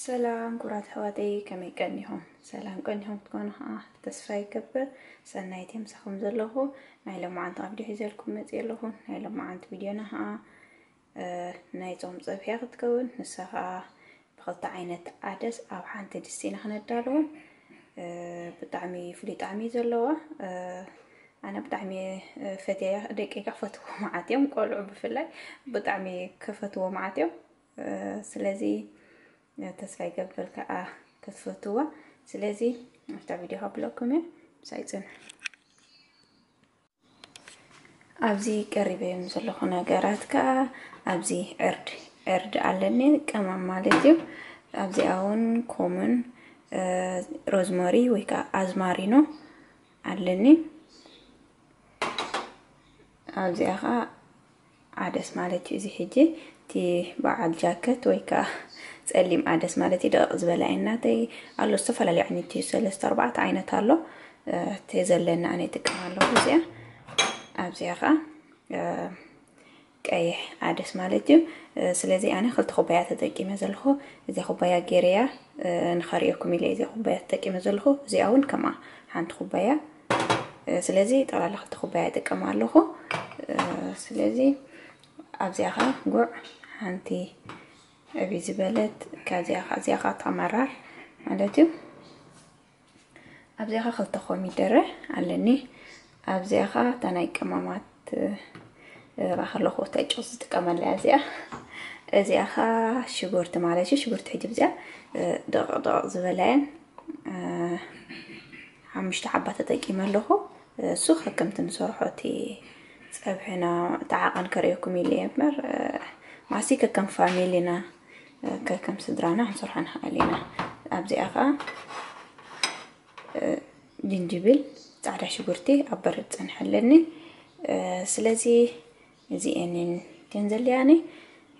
ሰላም ኩራት ኣሕዋተይ፣ ከመይ ቀኒኹም? ሰላም ቀኒኹም ክትኮኑ ከዓ ተስፋ ይገብር። ሰናይት ምሳኹም ዘለኹ። ናይ ሎማዓንቲ ኣብ ቪድዮ ሒዘልኩም መፅእ ኣለኹ። ናይ ሎማዓንቲ ቪድዮና ከዓ ናይ ጾም ጸብሕያ ክትከውን፣ ንሳ ከዓ ብኽልተ ዓይነት ዓደስ ኣብ ሓንቲ ድስቲ ኢና ክነዳልዎ። ብጣዕሚ ፍሉይ ጣዕሚ ዘለዋ። ኣነ ብጣዕሚ ፈትያ፣ ደቂ ክፈትዎ መዓት እዮም፣ ቆልዑ ብፍላይ ብጣዕሚ ክፈትዎ መዓት እዮም። ስለዚ ተስፋ ይገብር ከዓ ክትፈትዋ። ስለዚ ኣብታ ቪድዮ ከብለኩም እየ፣ ምሳይ ጽንሑ። ኣብዚ ቀሪበዮም ዘለኹ ነገራት ከዓ ኣብዚ ዕርድ፣ ዕርድ ኣለኒ፣ ቀመም ማለት እዩ። ኣብዚኣ እውን ኮሙን፣ ሮዝመሪ ወይ ከዓ ኣዝማሪኖ ኣለኒ። ኣብዚኣ ከዓ ዓደስ ማለት እዩ። እዚ ሕጂ እቲ በዓል ጃከት ወይ ከዓ ጸሊም ዓደስ ማለት እዩ። ደቐቕ ዝበለ ኣይናተይ ኣሎ። ዝተፈላለዩ ዓይነት እዩ፣ ሰለስተ ኣርባዕተ ዓይነት ኣሎ። እቲ ዘለኒ ኣነ ይጥቀም ኣለኹ እዚኣ። ኣብዚኣ ከዓ ቀይሕ ዓደስ ማለት እዩ። ስለዚ ኣነ ክልተ ኩባያ ተጠቂመ ዘለኹ። እዚ ኩባያ ጌረያ ንኸርእየኩም ኢለ እዚ ኩባያ ተጠቂመ ዘለኹ። እዚኣ እውን ከምኣ ሓንቲ ኩባያ። ስለዚ ጠቕላላ ክልተ ኩባያ ይጥቀም ኣለኹ። ስለዚ ኣብዚኣ ኸ ጉዕ ሓንቲ ዕብይ ዝበለት፣ ካብዚኣ ኸ፣ እዚኣ ኸ ተመራር ማለት እዩ። ኣብዚኣ ኸ ክልተ ኮሚደረ ኣለኒ። ኣብዚኣ ኸ እታ ናይ ቀማማት ራኸ ኣለኹ፣ እታ ጨው ዝጥቀመላ እያ እዚኣ። እዚኣ ኸ ሽጉርቲ ማለት እዩ። ሽጉርቲ ሕጂ ብዚኣ ደቕ ደቕ ዝበላ እየን። ሓሙሽተ ሓባ ተጠቂመ ኣለኹ። እሱ ከከምቲ ንሰርሖ እቲ ጸብሕና እቲ ዓቐን ከርእየኩም ኢለ እየ እምበር፣ ማሲ ከከም ፋሚሊና፣ ከከም ስድራና ክንሰርሖ ንኽእል ኢና። ኣብዚኣ ኸዓ ጅንጅብል፣ ጻዕዳ ሽጉርቲ ኣብ በረድ ጸንሐ ኣለኒ። ስለዚ እዚኤንን እተን ዘልያኒ።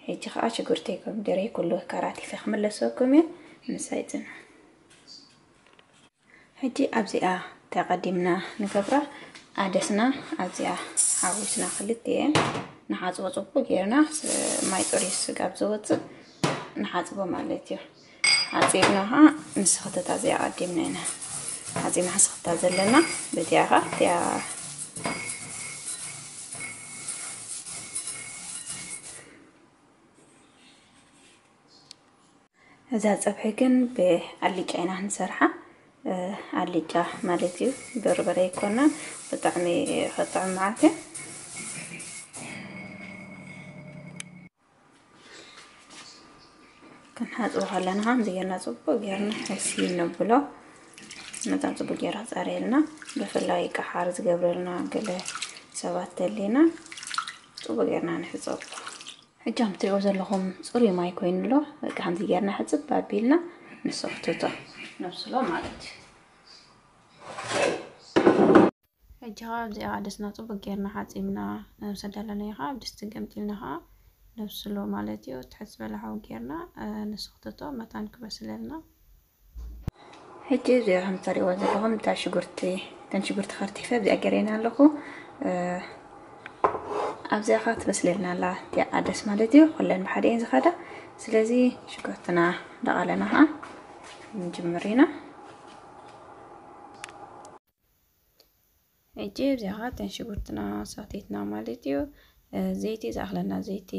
ሕጂ ኸዓ ሽጉርተይ ኮሚደረይ ኩሉ ከራቲፈ ክምለሰኩም እየ። ምሳይ ጽንሑ። ሕጂ ኣብዚኣ ተቐዲምና ንገብራ ዓደስና ኣብዚኣ ሓዊስና ክልቲኤን ንሓጽቦ ጽቡቅ ጌርና፣ ስ-፣ ማይ ጽሩይ ስጋብ ዝወጽእ ንሓጽቦ ማለት እዩ። ሓጺብና ኸዓ ንስኽተታ እዚኣ ቀዲምና ኢና ሓጺብና ስኽተታ ዘለና። በዚኣ ኸዓ እቲኣ እዛ ጸብሒ ግን ብኣልጫ ኢና ንሰርሓ። ኣልጫ ማለት እዩ፣ በርበረ ኣይኮነን። ብጣዕሚ ከጥዕም መዓት እዩ። ክንሓጽቦ ከለና ከምዚ ጌርና ጽቡቅ ጌርና ሕሲ ነብሎ። መታን ጽቡቅ ጌራ ጻርየልና። ብፍላይ ቀሓር ዝገብረልና ገለ ሰባት ተሊና ጽቡቅ ጌርና ንሕጸቦ። ሕጂ ከም ትሪእዎ ዘለኹም ጽሩይ ማይ ኮይኑ ኣሎ። በቃ ከምዚ ጌርና ሕጽብ ኣቢልና ንሰኽትቶ፣ ነብስሎ ማለት እዩ። ሕጂ ኸዓ ኣብዚኣ ዓደስና ጽቡቅ ጌርና ሓጺብና ምስ ኣዳለናዮ ኸዓ ኣብ ድስቲ ገምጢልና ኸዓ ነብስሎ ማለት እዩ። ትሕት ዝበለ ሓዊ ጌርና ንሰኽትቶ መታን ክበስለልና። ሕጂ እዚኣ ከም ትሪእዎ ዘለኹም እታ ሽጉርቲ፣ እተን ሽጉርቲ ከርቲፈ ኣብዚኣ ገይረየን ኣለኹ። እ፣ ኣብዚኣ ኸዓ ትበስለልና ኣላ እቲኣ ዓደስ ማለት እዩ። ኩለን ብሓደ እየን ዝኸዳ። ስለዚ ሽጉርትና እንዳቓለና ኸዓ ንጅምር ኢና። ሕጂ ኣብዚኣ ኸዓ እተን ሽጉርትና ሰኽቲትና ማለት እዩ። እ፣ ዘይቲ ዝኣኽለና ዘይቲ፣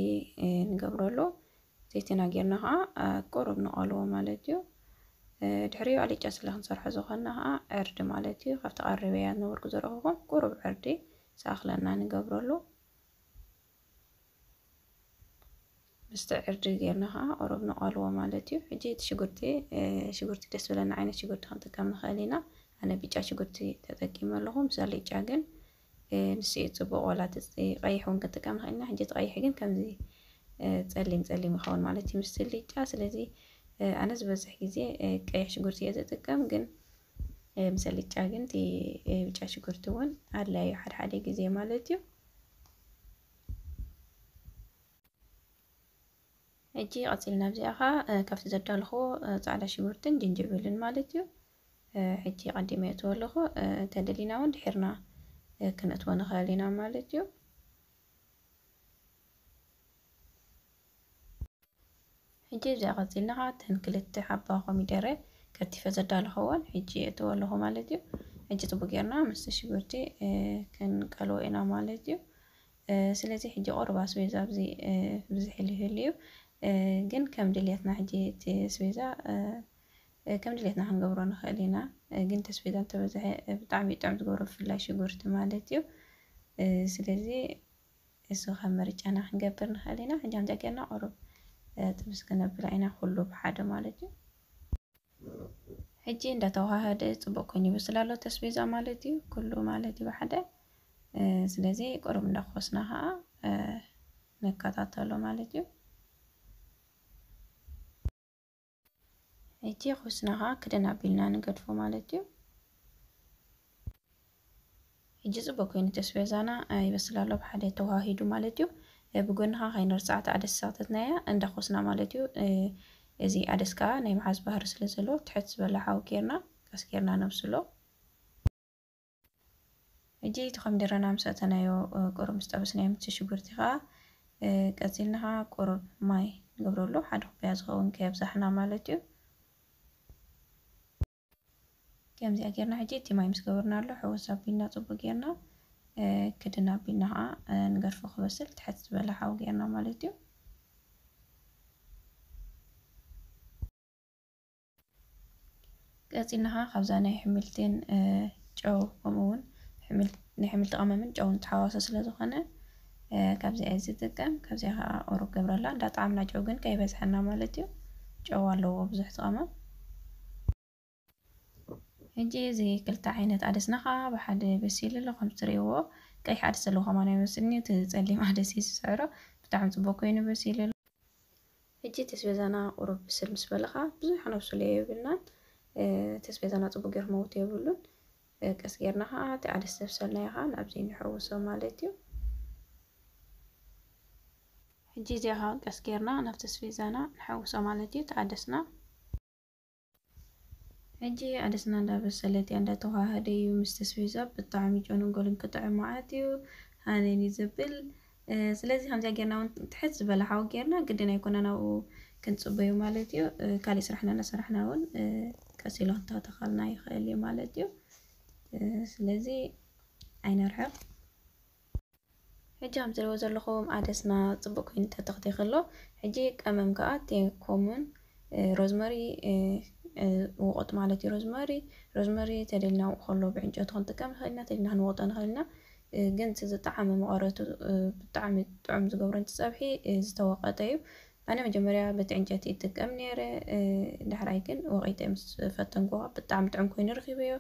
እ፣ ንገብረሉ። ዘይትና ጌርና ኸዓ፣ እ፣ ቁሩብ ንቐልዎ ማለት እዩ። እ፣ ድሕሪኡ ኣልጫ ስለ ክንሰርሖ ዝኾንና ኸዓ ዕርዲ ማለት እዩ። ካብቲ ቀሪበያ ነበርኩ ዘረኹኹም ቁሩብ ዕርዲ ዝኣኽለና ንገብረሉ። ምስቲ ዕርዲ ጌርና ኸዓ ቁሩብ ንቐልዎ ማለት እዩ። ሕጂ እቲ ሽጉርቲ፣ እ፣ ሽጉርቲ ደስ ዝብለና ዓይነት ሽጉርቲ ክንጥቀም ንኽእል ኢና። ኣነ ብጫ ሽጉርቲ ተጠቂመ ኣለኹ። ምስ ኣልጫ ግን፣ እ፣ ንሱ እዩ ጽቡቕ። ዋላ እቲ ቀይሕ እውን ክንጥቀም ንኽእል ኢና። ሕጂ እቲ ቀይሕ ግን ከምዚ፣ እ፣ ጸሊም ጸሊም ይኸውን ማለት እዩ ምስቲ ኣልጫ። ስለዚ፣ እ፣ ኣነ ዝበዝሕ ግዜ፣ እ፣ ቀይሕ ሽጉርቲ እየ ዝጥቀም፣ ግን፣ እ፣ ምስ ኣልጫ ግን እቲ፣ እ፣ ብጫ ሽጉርቲ እውን ኣድላዪ እዩ ሓደ ሓደ ግዜ ማለት እዩ። ሕጂ ቀጺልና ኣብዚኣ ኸዓ፣ እ፣ ካብቲ ዘዳለኹዎ፣ እ፣ ጻዕዳ ሽጉርትን ጅንጅብልን ማለት እዩ። እ፣ ሕጂ ቀዲመ የእትዎ ኣለኹ። እ፣ እንተደሊና እውን ድሒርና፣ እ፣ ክነእትዎ ንኽእል ኢና ማለት እዩ። ሕጂ እዚኣ ቀጺልና ኸዓ እተን ክልተ ሓባ ኮሚደረ ከቲፈ ዘዳለኽወን ሕጂ እእትዎ ኣለኹ ማለት እዩ። ሕጂ ጽቡቅ ጌርና ምስቲ ሽጉርቲ፣ እ፣ ክንቀልዎ ኢና ማለት እዩ። እ፣ ስለዚ ሕጂ ቁሩብ ኣስቤዛ ኣብዚ፣ እ፣ ብዝሕ ኢሉ ይህሉ እዩ። እ፣ ግን ከም ድልየትና ሕጂ እቲ ኣስቤዛ፣ እ፣ እ፣ ከም ድልየትና ክንገብሮ ንኽእል ኢና። እ፣ ግን እቲ ኣስቤዛ እንተበዝሐ፣ እ፣ ብጣዕሚ እዩ ጥዑም ዝገብሮ፣ ብፍላይ ሽጉርቲ ማለት እዩ። እ፣ ስለዚ እሱ ከም ምርጫና ክንገብር ንኽእል ኢና። ሕጂ ከምዚኣ ጌርና ቁሩብ፣ እ፣ ጥብስ ክነብላ ኢና፣ ኩሉ ብሓደ ማለት እዩ። ሕጂ እንዳተዋሃደ ጽቡቅ ኮይኑ ይበስል ኣሎ፣ ተስቤዛ ማለት እዩ፣ ኩሉ ማለት እዩ ብሓደ። እ፣ ስለዚ ቁሩብ እንዳኾስና ኸዓ፣ እ፣ ንከታተሎ ማለት እዩ። ሕጂ ኾስና ኸዓ ክድን ኣቢልና ንገድፎ ማለት እዩ። ሕጂ ጽቡቅ ኮይኑ ተስቤዛና፣ እ፣ ይበስል ኣሎ፣ ብሓደ ተዋሂዱ ማለት እዩ። እ፣ ብጎኒ ኸዓ ከይንርስዓ እቲ ዓደስ ዝሰኽተትናያ እንዳኾስና ማለት እዩ። እ፣ እዚ ዓደስ ከኣ ናይ ምሓዝ ባህሪ ስለ ዘለዎ፣ ትሕት ዝበለ ሓዊ ጌርና፣ ቀስ ጌርና ነብስሎ። ሕጂ እቲ ኮሚደረና ምስ ኣእተናዮ፣ እ፣ ቁሩብ ምስ ጠበስናዮ፣ ምስቲ ሽጉርቲ ኸኣ፣ እ፣ ቀጺልና ኸኣ ቁሩብ ማይ ንገብረሉ፣ ሓደ ኩባያ ዝኸውን ከየብዛሕና ማለት እዩ። ከምዚኣ ጌርና ሕጂ እቲ ማይ ምስ ገበርናሉ ሕውስ ኣቢልና ጽቡቅ ጌርና፣ እ፣ ክድን ኣቢልና ኸዓ፣ እ፣ ንገድፎ ክበስል ትሕት ዝበለ ሓዊ ጌርና ማለት እዩ። ቀጺልና ኸዓ ካብዛ ናይ ሕምልትን፣ እ፣ ጨው ከምኡ እውን ሕምል-፣ ናይ ሕምልቲ ቀመምን ጨውን ተሓዋሶ ስለ ዝኾነ፣ እ፣ ካብዚኣ እየ ዝጥቀም። ካብዚኣ ኸዓ ቁሩብ ገብረላ፣ እንዳጠዓምና ጨው ግን ከይበዝሐና ማለት እዩ። ጨው ኣለዎ ብዙሕ እቲ ቀመም። ሕጂ እዚ ክልተ ዓይነት ዓደስና ኸዓ ብሓደ በሲሉ ኣሎ። ከም ትርእይዎ ቀይሕ ዓደስ ዘለዎ ከማን ኣይመስልን እዩ። እቲ ጸሊም ዓደስ እዩ ዝስዕሮ። ብጣዕሚ ጽቡቅ ኮይኑ በሲሉ ኣሎ። ሕጂ ተስቤዛና ቁሩብ ብስል ምስ በለ ኸዓ ብዙሕ ነብስሎ የብልናን። እ፣ ተስቤዛና ጽቡቅ ጌሩ ክመውት የብሉን። እ፣ ቀስ ጌርና ኸዓ እቲ ዓደስ ዘብሰልናዮ ኸዓ ናብዚ ንሕውሶ ማለት እዩ። ሕጂ እዚኣ ኸዓ ቀስ ጌርና ናብ ተስቤዛና ንሕውሶ ማለት እዩ፣ እቲ ዓደስና። ሕጂ ዓደስና እንዳበሰለት እያ፣ እንዳተዋሃደ እዩ ምስ ተስቤዛ። ብጣዕሚ ጨኑን ጎልን ክጥዕም መዓት እዩ፣ ሃነን እዩ ዘብል። እ፣ ስለዚ ከምዚኣ ጌርና እውን ትሕት ዝበለ ሓዊ ጌርና፣ ግድን ኣይኮነን ኣብኡ ክንጽበዮ ማለት እዩ። እ፣ ካሊእ ስራሕና እናሰራሕና እውን፣ እ፣ ቀስ ኢሉ ክተኸተኸልና ይኽእል እዩ ማለት እዩ። እ፣ ስለዚ ኣይነርሕቕ። ሕጂ ከም ትሪእዎ ዘለኹም ዓደስና ጽቡቕ ኮይኑ ተተኽቲኹ ኣሎ። ሕጂ ቀመም ከኣ እቲ ኮሙን፣ እ፣ ሮዝመሪ፣ እ፣ እ፣ ውቑጥ ማለት እዩ። ሮዝመሪ፣ ሮዝመሪ ተደሊና ከሎ ብዕንጨቱ ክንጥቀም ንኽእል ኢና፣ ተደሊና ክንወቕጦ ንኽእል ኢና። እ፣ ግን እቲ ዝጠዓመ መቐረቱ፣ እ፣ ብጣዕሚ ጥዑም ዝገብሮ፣ እቲ ጸብሒ፣ እ፣ ዝተወቐጠ እዩ። ኣነ መጀመርያ በቲ ዕንጨይቲ ይጥቀም ነይረ፣ እ፣ ዳሕራይ ግን ወቒጠ ምስ ፈተንኩ ብጣዕሚ ጥዑም ኮይኑ ረኺበዮ።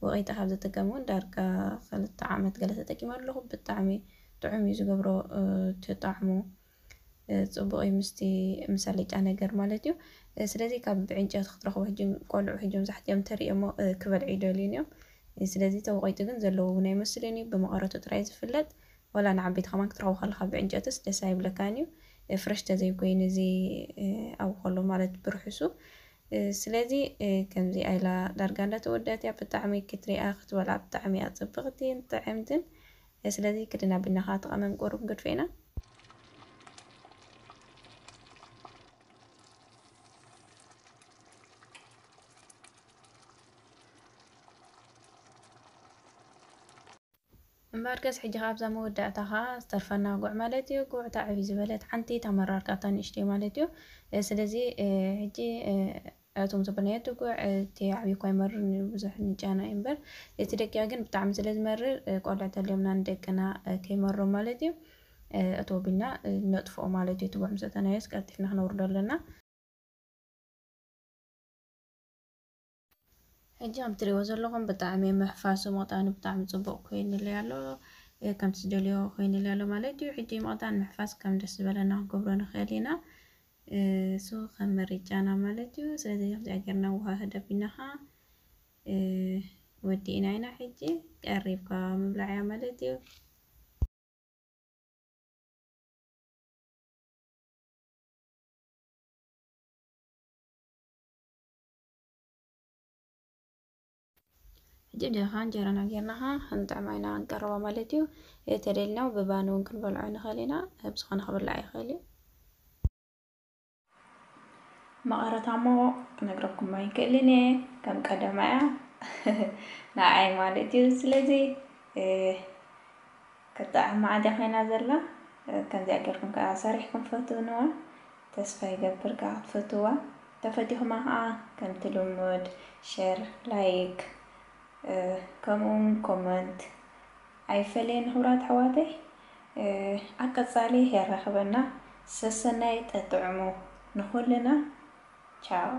ወቒጠ ካብ ዝጥቀም እውን ዳርጋ ክልተ ዓመት ገለ ተጠቂመ ኣለኹ። ብጣዕሚ ጥዑም እዩ ዝገብሮ፣ እ፣ እቲ ጣዕሙ፣ እ፣ ጽቡቕ እዩ ምስቲ፣ ምስ ኣልጫ ነገር ማለት እዩ። እ፣ ስለዚ ካብ ብዕንጨይቲ ክትረኽቦ ሕጂ ቆልዑ ሕጂ መብዛሕትኦም እንተሪኦሞ፣ እ፣ ክበልዑ ይደልዩን እዮም። እ፣ ስለዚ ተወቒጡ ግን ዘለዎ እውን ኣይመስልን እዩ፣ ብመቐረቱ ጥራይ ዝፍለጥ። ዋላ ንዓበይቲ ከማን ክትረኽቦ ከለኻ ብዕንጨትስ ደስ ኣይብለካን እዩ። እ፣ ፍረሽ ተዘይኮይኑ እዚ፣ እ፣ ኣብኡ ከሎ ማለት ብርሑሱ። እ፣ ስለዚ፣ እ፣ ከምዚኣ ኢላ ዳርጋ እንዳተወደአት እያ። ብጣዕሚ ክትሪኣ ክትበልዓ ብጣዕሚ እያ ጽብቕትን ጥዕምትን። እ፣ ስለዚ ክድን ኣቢልና ኸዓ እቲ ቀመም ቁሩብ ንገድፎ ኢና። እምበኣርከስ ሕጂ ኸዓ ኣብዛ መወዳእታ ኸዓ ዝተርፈና ጉዕ ማለት እዩ። ጉዕ እታ ዕብይ ዝበለት ሓንቲ፣ እታ መራር ከኣ እታ ንእሽተይ ማለት እዩ። እ፣ ስለዚ፣ እ፣ ሕጂ፣ እ፣ እቶም ዘበልናዮ እቲ ጉዕ፣ እ፣ እቲ ዓብዪ እኳ ይመርር፣ ብዙሕ ንጨና እዩ እምበር፣ እቲ ደቂቕ ግን ብጣዕሚ ስለ ዝመርር፣ እ፣ ቆልዑ ተልዮምና ንደቅና፣ እ፣ ከይመሮም ማለት እዩ። እ፣ እቶ ቢልና፣ እ፣ ነጥፍኦ ማለት እዩ። እቲ ጉዕ ምስ እተናዮስ ቀልጢፍና ክነውርዶ ኣለና። ሕጂ ከም ትሪእዎ ዘለኹም ብጣዕሚ ምሕፋሱ መቕጣኒ ብጣዕሚ ጽቡቕ ኮይኑለይ ኣሎ። እ፣ ከምቲ ዝደልዮ ኮይኑለይ ኣሎ ማለት እዩ። ሕጂ መቕጣን ምሕፋስ ከም ደስ ዝበለና ክንገብሮ ንኽእል ኢና። እ፣ እሱ ከም ምርጫና ማለት እዩ። ስለዚ ከምዚኣ ጌርና ኣወሃህድ ኣቢልና ኸዓ፣ እ፣ ወዲእና ኢና። ሕጂ ቀሪብካ ምብላዕ እያ ማለት እዩ። ሕጂ ብዚኣ ኸዓ እንጀራና ጌርና ኸዓ ክንጥዕማ ኢና ክንቀርባ ማለት እዩ። እ፣ ተደሊና ብባኒ እውን ክንበልዖ ንኽእል ኢና። ብዝኾነ ክብላዕ ይኽእል እዩ። መቐረታ እሞ ክነግረኩም ኣይክእልን እየ፣ ከም ቀደማ እያ ንዓይ ማለት እዩ። ስለዚ ከተዓማ ዓዲ ኮይና ዘላ፣ ከምዚኣ ጌርኩም ከዓ ሰሪሕኩም ፈትንዋ። ተስፋ ይገብር ከዓ ክትፈትዋ። ተፈቲኹማ ከዓ ከምቲ ልሙድ ሸር፣ ላይክ፣ ከምኡ እውን ኮመንት ኣይፈለየን። ክቡራት ኣሕዋተይ፣ ኣብ ቀፃሊ የራኽበና። ሰሰናይ ጠጥዕሙ ንኹልና። ቻው።